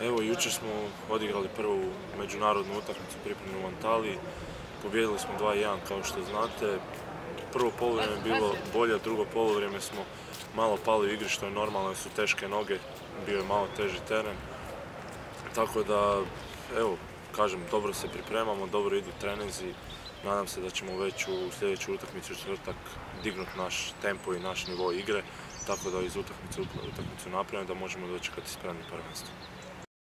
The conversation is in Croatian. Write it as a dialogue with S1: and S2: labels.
S1: Evo, jučer smo odigrali prvu međunarodnu utakmicu pripremnu u Antaliji. Pobijedili smo 2:1 kao što znate. Prvo poluvrijeme je bilo bolje, drugo poluvrijeme smo malo pali u igri što je normalno jer su teške noge, bio je malo teži teren. Tako da, evo, kažem, dobro se pripremamo, dobro idu treninzi. Nadam se da ćemo već u sljedeću utakmicu u četvrtak dignuti naš tempo i naš nivo igre, tako da iz utakmicu napravimo da možemo dočekati spremni prvenstvo.